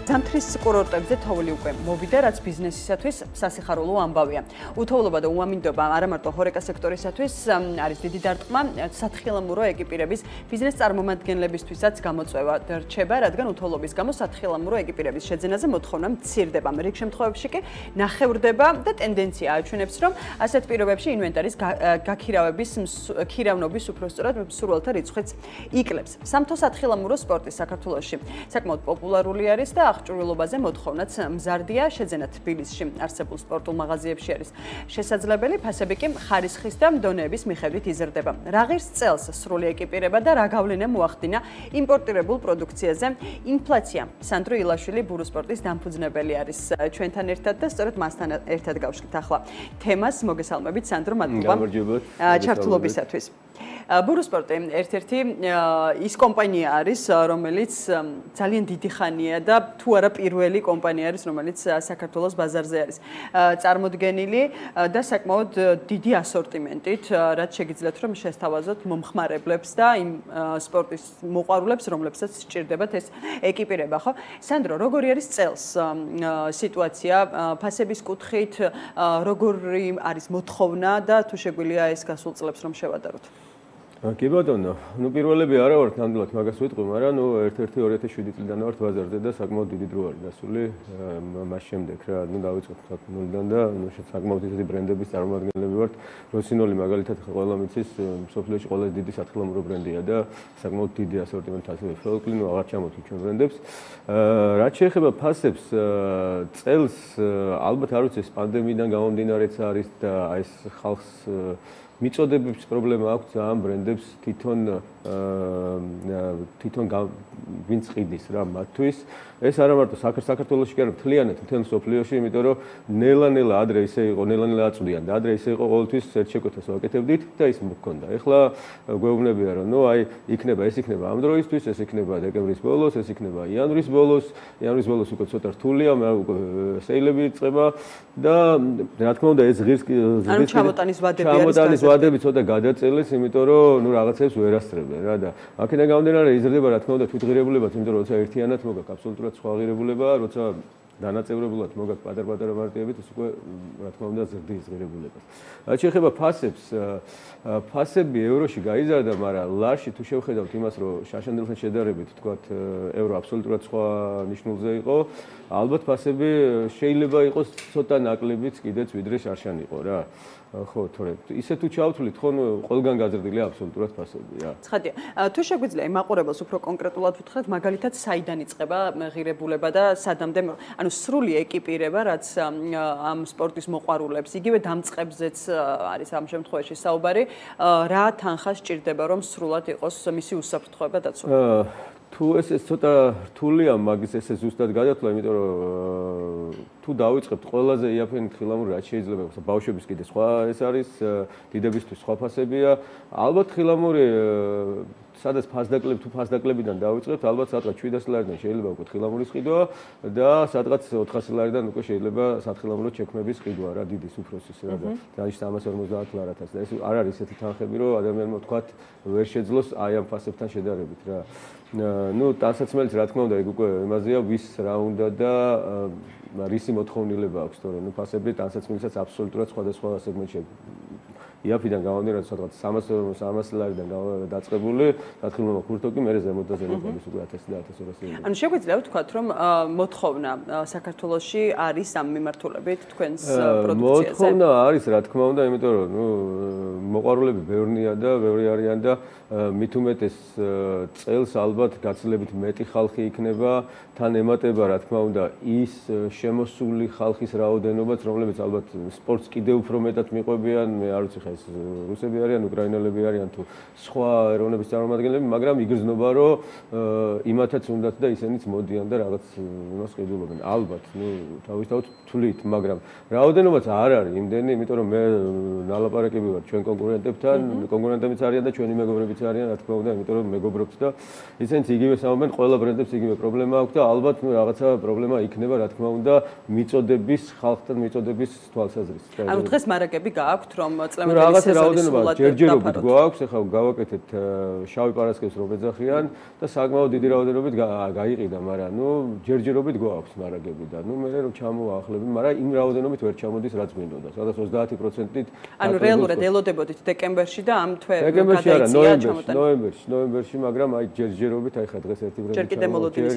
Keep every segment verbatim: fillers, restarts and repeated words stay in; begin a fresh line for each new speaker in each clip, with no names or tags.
ზამთრის კურორტებზე თოვლი უკვე მოვიდა, რაც ბიზნესისათვის სასიხარულო ამბავია. უთოვლობა და უამინდობა არა მარტო ჰორეკა სექტორისათვის არის დიდი დარტყმა, სათხილამურო ეკიპირების ბიზნეს წარმომადგენლებისთვისაც გამოწვევა რჩება, რადგან უთოვლობის გამო სათხილამურო ეკიპირების შეძენაზე მოთხოვნა მცირდება. რიგ შემთხვევებში კი ნახევრდება და ტენდენცია აჩვენებს, რომ ასეთ პირობებში ინვენტარის გაქირავების ქირავნობის უпростоრად მსურველთა რიცხვიც იკლებს. სამთო სათხილამურო სპორტი საქართველოში საკმაოდ პოპულარული არის და აღჭურვილობაზე მოთხოვნაც მზარდია. შეძენა თბილისში არსებულ სპორტულ მაღაზიებში არის შესაძლებელი, ფასები კი ხარისხის და დონეების მიხედვით იზრდება. რა ღირს წელს სრული ეკიპირება და რა გავლენა მოახდინა იმპორტირებულ პროდუქციაზე ინფლაცია. სანდრო ილაშვილი ბურუსპორტის დამფუძნებელი არის ჩვენთან ერთად და სწორედ მასთან ერთად გავშლით ახლა თემას. მოგესალმებით სანდრო, მადლობა ჩართულობისათვის. ბურუსპორტი ერთ-ერთი ის კომპანია არის, რომელიც ძალიან დიდი ხანია და თუ არა პირველი კომპანია არის, რომელიც საქართველოს ბაზარზე არის წარმოდგენილი და საკმაოდ დიდი ასორტიმენტით, რაც შეგიძლიათ რომ შესთავაზოთ მომხმარებლებს და იმ სპორტის მოყვარულებს, რომლებსაც სჭირდებათ ეს ეკიპირება, ხო? სანდრო, როგორი არის წელს სიტუაცია ფასების კუთხით, როგორი არის მოთხოვნა და თუ შეგვიძლია ეს გასულ წლებს რომ შევადაროთ?
კი ბატონო, ნუ პირველები არა ვართ ნამდვილად მაგას ვიტყვი, მაგრამ ნუ ერთ-ერთი ორი ათას შვიდი წლიდან ვართ ბაზარზე და საკმაოდ დიდი დრო არის გასული მას შემდეგ რა, ნუ დავიწყოთ ნულიდან და ნუ საკმაოდ დიდი ბრენდების წარმომადგენლები ვართ. როსინოლი მაგალითად ყველა მიცის მსოფლიოში ყველაზე დიდი სათხილამურო ბრენდია და საკმაოდ დიდი ასორტიმენტი ასევე ფოლკლი, ნუ აღარ ჩამოთვლით ჩვენ ბრენდებს. რაც შეეხება ფასებს, წელს ალბათ არ ვიცი ეს პანდემიიდან გამომდინარეც არის და ეს ხალხს მიწოდებების პრობლემა აქვს ამ ბრენდებს თვითონ თვითონ ვინც ყიდის რა მათთვის. ეს არა მარტო საქართველოში კი არა, მთლიანად მთელ მსოფლიოში, იმიტომ რომ ნელა-ნელა ადრე ისე იყო, ნელა-ნელა აწვდიან და ადრე ისე იყო ყოველთვის ერთ შეკვეთას ვაკეთებდით და ის მქონდა. ეხლა გვეუბნებია რომ ნუ აი იქნება ეს იქნება ამ დროისთვის, ეს იქნება დეკემბრის ბოლოს, ეს იქნება იანვრის ბოლოს, იანვრის ბოლოს უკვე ცოტა რთულია, უკვე სეილები იწყება და რა თქმა უნდა ეს ღირს
ანუ ჩამოტანის ვადები არის
ჩამოტანის ვადები ცოტა გადაწელეს, იმიტომ რომ ნუ რაღაცებს ვერ ასწრებენ რა და აქედან გამომდინარე იზრდება რა თქმა უნდა თვითღირებულებაც, იმიტომ რომ როცა ერთიანად მოგაქვს აბსოლუტურად სხვა ღირებულება, როცა დანაწევრებულად მოგაქვს პატარ-პატარა მარტივებით, ეს უკვე რა თქმა უნდა ზრდის ღირებულებას. რაც შეეხება ფასებს, ფასები ევროში გაიზარდა, მაგრამ ლარში თუ შევხედავთ იმას, რომ შაშანდილთან შედარებით, თქვათ, ევრო აბსოლუტურად სხვა ნიშნულზე იყო, ალბათ ფასები შეიძლება იყოს ცოტა ნაკლებიც კიდეც ვიდრე შარშან იყო რა. ხო, თორე ისე თუ ჩავთვლით, ხო, ყველგან გაზრდილია აბსოლუტურად ფასები რა.
ცხადია. თუ შეგვიძლია იმაყურებელს უფრო კონკრეტულად ვუთხრათ, მაგალითად საიდან იწყება ღირებულება და სადამდე, ანუ სრული ეკიპირება, რაც ამ სპორტის მოყვარულებს, იგივე დამწყებზეც არის ამ შემთხვევაში საუბარი, რა თანხა სჭირდება, რომ სრულად იყოს მისი უსაფრთხოება დაცული?
თუ ეს ცოტა რთულია მაგის ესე ზუსტად გადათვლა, იმიტომ რომ თუ დავიწყებთ ყველაზე იაფიანი თხილამური რაც შეიძლება იყოს, ბავშვების კიდე სხვა ეს არის, დიდებისთვის სხვა ფასებია. ალბათ თხილამური სადაც ფასდაკლები თუ ფასდაკლებიდან დავიწყებთ, ალბათ სადღაც შვიდას ლარიდან შეიძლება უკვე თხილამურის ყიდვა და სადღაც ოთხასი ლარიდან უკვე შეიძლება სათხილამურო ჩექმების ყიდვა რა, დიდის უფროსის რა და დანიშნა სამას ორმოცდაათ ლარათაც და ეს არ არის ესეთი თანხები, რომ ადამიანმა თქვათ ვერ შეძლოს აი ამ ფასებთან შედარებით რა. ნუ ტანსაცმელიც რა თქმა უნდა ეგ უკვე იმაზეა ვის რა უნდა და რისი მოთხოვნილება აქვს, თორე ნუ ფასები ტანსაცმელისაც აბსოლუტურად სხვადასხვა სეგმენტში იაფიდან გამომდინარე სადღაც სამას ლარიდან დაწყებული, სათხილამურო ქურთო კი მერე ზემოთ და ზემოთ არის უკვე ათასი და ათას ორასი.
ანუ შეგვიძლია ვთქვათ, რომ მოთხოვნა საქართველოში არის ამ მიმართულებით თქვენს პროდუქციაზე?
მოთხოვნა არის, რა თქმა უნდა, იმიტომ რომ ნუ მოყვარულები ბევრია და ბევრი არიან და მით უმეტეს წელს ალბათ გაცილებით მეტი ხალხი იქნება, თან ემატება რა თქმა უნდა ის შემოსული ხალხის რაოდენობაც, რომლებიც ალბათ სპორტს კიდევ უფრო მეტად მიყვებიან, მე არ ვიცი ხა ეს რუსები არიან, უკრაინელები არიან თუ სხვა ეროვნების წარმომადგენლები, მაგრამ იგრძნობა რომ იმათაც უნდათ და ისინიც მოდიან და რაღაც იმას ყიდულობენ. ალბათ, ნუ თავისთავად თვლით, მაგრამ რაოდენობაც არ არის იმდენი, იმიტომ რომ მე ნალაპარაკები ვარ ჩვენ კონკურენტებთან, კონკურენტებიც არიან და ჩვენი მეგობრებიც არიან, რა თქმა უნდა, იმიტომ რომ მეგობრობთ და ისინიც იგივე საუბრობენ, ყველა ბრენდებს იგივე პრობლემა აქვს და ალბათ ნუ რაღაცა პრობლემა იქნება, რა თქმა უნდა, მიწოდების, ხალხთან მიწოდების თვალსაზრისით.
ანუ დღეს მარაგები გააქვთ, რომ წლევანდელი მოდელის სეზონის სულად
ჯერჯერობით გვაქვს, ეხლა გავაკეთეთ შავი პარასკევს რომ ეძახიან და საკმაოდ დიდი რაოდენობით გაიყიდა, მაგრამ ნუ ჯერჯერობით გვაქვს მარაგები და ნუ მე რომ ჩამოახლები, მაგრამ იმ რაოდენობით ვერ ჩამოდის რაც გვინდოდა. სადაც ოცდაათი პროცენტით
ანუ რეალურად ელოდებოდით დეკემბერში და ამ თვე
დეკემბერში არა, ნოემბერში, ნოემბერში, ნოემბერში, მაგრამ აი ჯერჯერობით აი ხა დღეს ერთი ბრენდი.
ჯერ კიდე მოლოდინის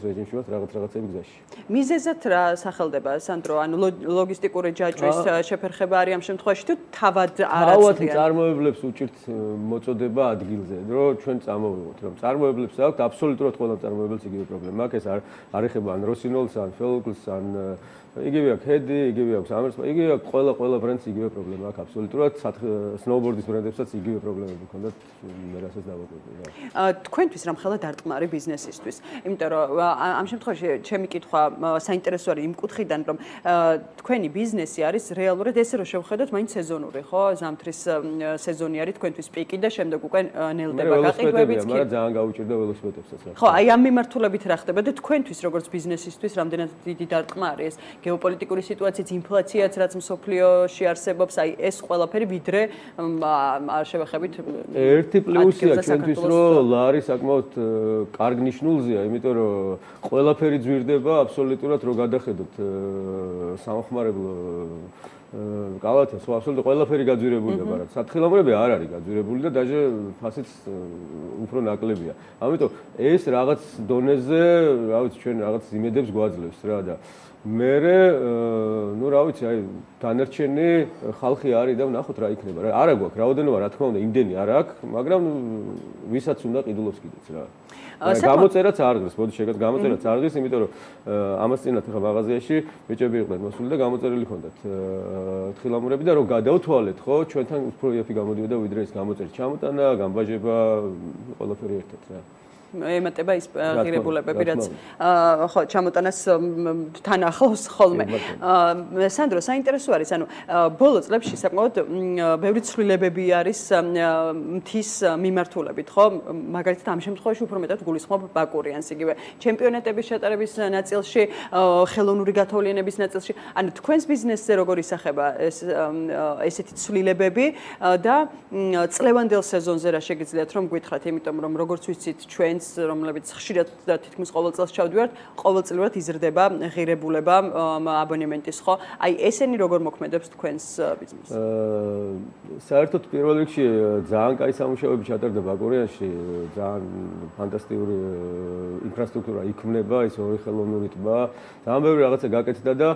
რეჟიმში ვართ რაღაც რაღაცები გზაში.
მიზეზად რა სახელდება სანდრო, ანუ ლოგისტიკური ჯაჭვის შეფერხება არის ამ შემთხვევაში თუ თავად არ
თავად წარმოებლებს უჭირთ მოწოდება ადგილზე, რომ ჩვენ წამოვიღოთ, რომ წარმოებლებს აქვს აბსოლუტურად ყველა წარმოებელს იგივე პრობლემა აქვს, ეს არ არ ეხება ან როსინოლს, ან ფელკლს, ან იგივე აქვს ჰედი, იგივე აქვს ამერს, იგივე აქვს ყველა ყველა ბრენდს იგივე პრობლემა აქვს აბსოლუტურად, სნოუბორდის ბრენდებსაც იგივე პრობლემები ჰქონდათ, მე რასაც დავაკვირდი რა.
თქვენთვის რამხელა დარტყმარი ბიზნესისთვის, იმიტომ რომ ამ შემთხვევაში ჩემი კითხვა საინტერესო არის იმ კუთხიდან, რომ თქვენი ბიზნესი არის რეალურად ესე რომ შევხედოთ, მაინც სეზონური, ხო? ზამთრის სეზონი არის თქვენთვის პიკი და შემდეგ უკვე ნელდება გაყიდვებიც კი.
მაგრამ ძალიან გაუჭირდა ველოსიპედებსაც რა.
ხო, აი ამ მიმართულებით რა ხდება და თქვენთვის როგორც ბიზნესისთვის რამდენად დიდი დარტყმა არის გეოპოლიტიკური სიტუაციაც, ინფლაციაც, რაც მსოფლიოში არსებობს, აი ეს ყველაფერი ვიდრე შევეხებით
ერთი პლუსია ჩვენთვის, რომ ლარი საკმაოდ კარგ ნიშნულზეა, იმიტომ რომ ყველაფერი ძვირდება აბსოლუტურად რო გადახედოთ სამხმარებლო კალათას, ხო აბსოლუტურად ყველაფერი გაძვირებულია, მაგრამ სათხილამურები არ არის გაძვირებული და დაჟე ფასიც უფრო ნაკლებია. ამიტომ ეს რაღაც დონეზე, რა ვიცი, ჩვენ რაღაც იმედებს გვაძლევს რა და მერე ნუ რა ვიცი, აი დანარჩენი ხალხი არის და ვნახოთ რა იქნება. რა არა გვაქვს რაოდენობა, რა თქმა უნდა, იმდენი არ აქვს, მაგრამ ვისაც უნდა ყიდულობს კიდეც რა. გამოწერაც არ ღირს, მოდი შეგეთ გამოწერაც არ ღირს, იმიტომ რომ ამას წინათ ახლა მაღაზიაში ბიჭები იყვნენ მოსული და გამოწერილი ჰქონდათ თხილამურები და რომ გადავთვალეთ, ხო, ჩვენთან უფრო იაფი გამოდიოდა ვიდრე ეს გამოწერის ჩამოტანა, გამბაჟება, ყველაფერი ერთად რა.
ემატება ის ღირებულებები, რაც ხო ჩამოტანას თან ახლავს ხოლმე. სანდრო, საინტერესო არის, ანუ ბოლო წლებში საკმაოდ ბევრი ცვლილებები არის მთის მიმართულებით, ხო? მაგალითად ამ შემთხვევაში უფრო მეტად გულისხმობ ბაკურიანს, იგივე ჩემპიონატების ჩატარების ნაწილში, ხელოვნური გათოვლიანების ნაწილში. ანუ თქვენს ბიზნესზე როგორ ისახება ეს ესეთი ცვლილებები და წლევანდელ სეზონზე რა შეგიძლიათ რომ გითხრათ, იმიტომ რომ როგორც ვიცით ჩვენ რომლებიც ხშირად და თითქმის ყოველ წელს ჩავდივართ, ყოველწლიურად იზრდება ღირებულება აბონემენტის, ხო? აი ესენი როგორ მოქმედებს თქვენს ბიზნესს?
საერთოდ პირველ რიგში ძალიან კაი სამუშაოები ჩატარდა ბაკურიანში, ძალიან ფანტასტიკური ინფრასტრუქტურა იქმნება, ის ორი ხელოვნური ტბა, ძალიან ბევრი რაღაცა გაკეთდა და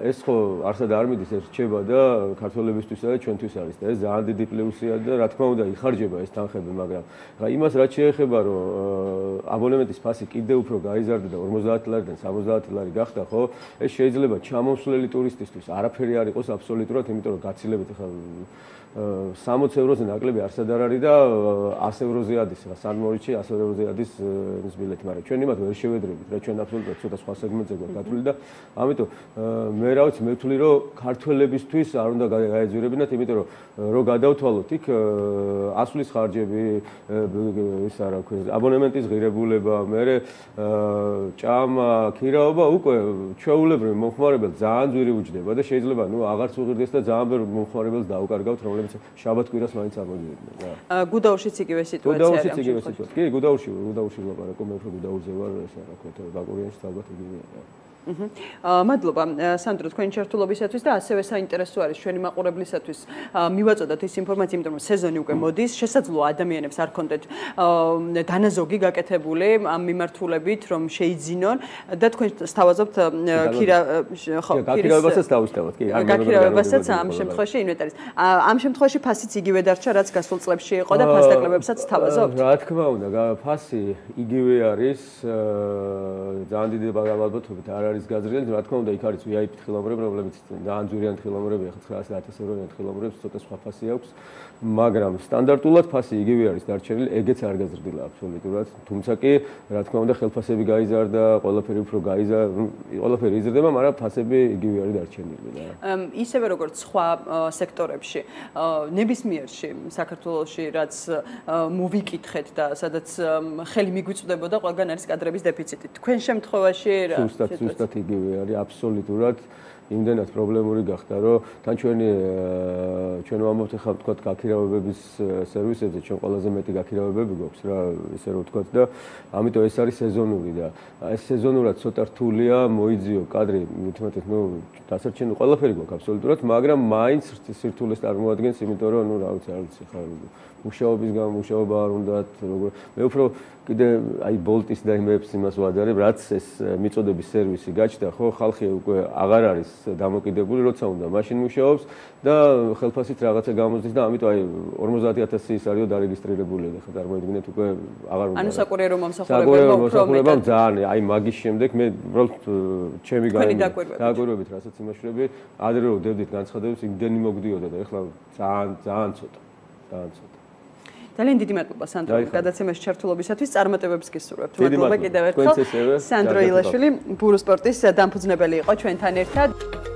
ეს ხო არსად არ მიდის, ეს რჩება და ქართველებისთვისა და ჩვენთვის არის და ეს ძალიან დიდი პლუსია და რა თქმა უნდა იხარჯება ეს თანხები, მაგრამ რა იმას რაც შეეხება, რომ აბონემენტის ფასი კიდევ უფრო გაიზარდა და ორმოცდაათი ლარიდან სამოცდაათი ლარი გახდა, ხო? ეს შეიძლება ჩამოსვლელი ტურისტისთვის არაფერი არ იყოს აბსოლუტურად, იმიტომ რომ გაცილებით ახლა სამოცი ევროზე ნაკლები არსად არ არის და ასი ევროზე ადის, რა სან-მორიცში ასი ევროზე ადის ეს ბილეთი, მაგრამ ჩვენ იმათ ვერ შევედრებით, რა ჩვენ აბსოლუტურად ცოტა სხვა სეგმენტზე გვაქვს გათვლილი და ამიტომ მე რა ვიცი, მე ვთვლი რომ ქართველებისთვის არ უნდა გაეძვირებინათ, იმიტომ რომ რო გადავთვალოთ იქ ასვლის ხარჯები, ის არა ქვია, აბონემენტის ღირებულება, მერე ჭამა, ქირაობა უკვე ჩვეულებრივ მომხმარებელს ძალიან ძვირი უჯდება და შეიძლება ნუ აღარც უღირდეს და ძალიან ბევრ მომხმარებელს დაუკარგავთ, რომ შაბათ-კვირას მაინც ამოდიოდნენ რა.
გუდაურშიც იგივე სიტუაცია არის.
გუდაურშიც იგივე სიტუაცია. კი, გუდაურში, გუდაურში ვლაპარაკობ, მე უფრო გუდაურზე ვარ, ეს რა ქვია, ბაკურიანში ალბათ იგივეა რა.
მადლობა სანდრო თქვენი ჩართულობისათვის და ასევე საინტერესო არის ჩვენი მაყურებლისათვის მივაწოდოთ ეს ინფორმაცია, იმიტომ რომ სეზონი უკვე მოდის, შესაძლოა ადამიანებს არ კონდეთ დანაზოგი გაკეთებული ამ მიმართულებით, რომ შეიძინონ და თქვენ სთავაზობთ ქირა
ხო, გაქირავებასაც დავისთავოთ, კი, არ
გაქირავებასაც ამ შემთხვევაში ინვენტარის. ამ შემთხვევაში ფასიც იგივე დარჩა, რაც გასულ წლებში იყო და ფასდაკლებებსაც სთავაზობთ.
რა თქმა უნდა, ფასი იგივე არის, ძალიან დიდი ალბათობით არ არის გაზრდილი, რა თქმა უნდა, იქ არის ვი აი პი თხილამურები, რომლებიც ძალიან ძვირიანი თხილამურები, ახლა ცხრაასი და ათასი ევროიანი თხილამურებს, ცოტა სხვა ფასი აქვს, მაგრამ სტანდარტულად ფასი იგივე არის დარჩენილი, ეგეც არ გაზრდილა აბსოლუტურად, თუმცა კი, რა თქმა უნდა, ხელფასები გაიზარდა, ყველაფერი უფრო გაიზარდა, ყველაფერი იზრდება, მაგრამ ფასები იგივე არის დარჩენილი და
ისევე როგორც სხვა სექტორებში, ნებისმიერში საქართველოში, რაც მოვიკითხეთ და სადაც ხელი მიგვიწვდებოდა, ყველგან არის კადრების დეფიციტი. თქვენ შემთხვევაში რა
ზუსტად იგივე არის აბსოლუტურად იმდენად პრობლემური გახდა, რომ თან ჩვენი ჩვენ ვამბობთ ახლა ვთქვათ გაქირავებების სერვისებზე, ჩვენ ყველაზე მეტი გაქირავებები გვაქვს რა, ისე რომ ვთქვათ და ამიტომ ეს არის სეზონური და ეს სეზონურად ცოტა რთულია მოიძიო კადრი, მithmetet, ну, დასარჩენილი ყველაფერი გვაქვს აბსოლუტურად, მაგრამ მაინც სირთულეს წარმოადგენს, იმიტომ რომ, ну, რა ვიცი, არ ვიცი, ხა მუშაობის გამო მუშაობა არ უნდათ, როგორ მე უფრო კიდე აი ბოლტის და იმებს იმას ვაძარებ, რაც ეს მიწოდების სერვისი გაჩნდა, ხო, ხალხი უკვე აღარ არის დამოკიდებული, როცა უნდა მაშინ მუშაობს და ხელფასით რაღაცა გამოზდის და ამიტომ აი ორმოცდაათი ათასი ის არისო დარეგისტრირებული და ხა წარმოიდგინეთ უკვე აღარ უნდა.
ანუ საკურიერო მომსახურებელმა უფრო მეტად
ძალიან აი მაგის შემდეგ მე უბრალოდ ჩემი დაკვირვებით, რასაც იმაშვრები, ადრე რომ დევდით განცხადებებს, იმდენი მოგდიოდა და ეხლა ძალიან ძალიან ცოტა. ძალიან ცოტა.
ძალიან დიდი მადლობა სანდრო გადაცემაში ჩართულობისათვის, წარმატებებს გისურვებთ. მადლობა კიდევ ერთხელ. სანდრო ილაშვილი ბურუ სპორტის დამფუძნებელი იყო ჩვენთან ერთად.